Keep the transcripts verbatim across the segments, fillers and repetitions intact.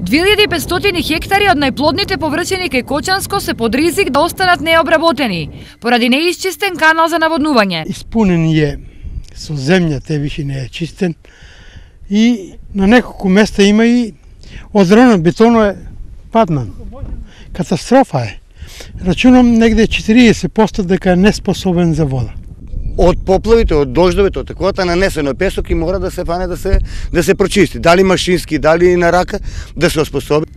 две илјади и петстотини хектари од најплодните површини кај Кочанско се под ризик да останат необработени, поради неисчистен канал за наводнување. Испунен е со земја, те више не е чистен и на неколку места има и одронен бетоно е паднан. Катастрофа е. Рачунам негде четириесет проценти дека е неспособен за вода. Од поплавите, од дождовите, од таковата нанесено песок и мора да се фане да се да се прочисти, дали машински, дали на рака, да се оспособи.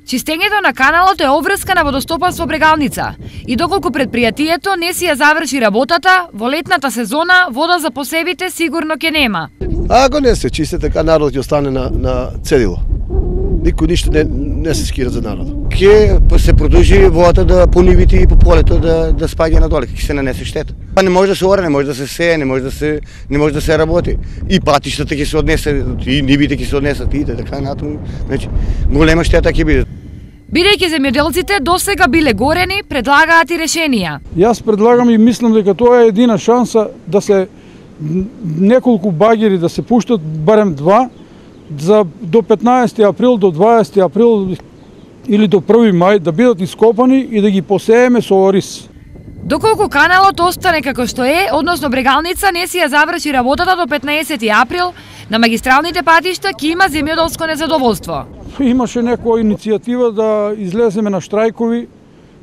Чистењето на каналот е обврска на водостопанство Брегалница и доколку предпријатието не си ја заврши работата, во летната сезона вода за посевите сигурно ќе нема. А ако не се чисти, така народот ќе остане на, на цедило. Никој ништо не, не се скира за народот. Ке се продолжи водата да по нивите и по полето да да спаѓа надоле, ќе се нанесе штета. Па не може да се оре, не може да се сее, не може да се не може да се работи. И патиштата ќе се однесе, и нивите ќе се однесат и така натаму. Значи голема штета ќе биде. Бидејќи земјоделците досега биле горени, предлагаат и решенија. Јас предлагам и мислам дека тоа е едина шанса да се неколку багери да се пуштат, барем два, за до петнаесети април, до дваесети април или до први мај да бидат ископани и да ги посееме со ориз. Доколку каналот остане како што е, односно Брегалница не си ја заврши работата до петнаесети април, на магистралните патишта ќе има земјоделско незадоволство. Имаше некоја иницијатива да излеземе на штрајкови,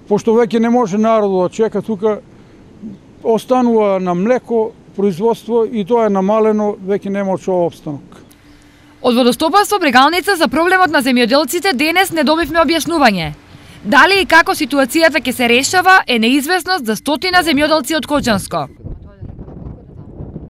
пошто веќе не може народот да чека, тука останува на млеко производство и тоа е намалено, веќе нема од што опстанок. Од водостопанство Брегалница за проблемот на земјоделците денес не добивме објаснување. Дали и како ситуацијата ќе се решава е неизвестност за стотина земјоделци од Кочанско.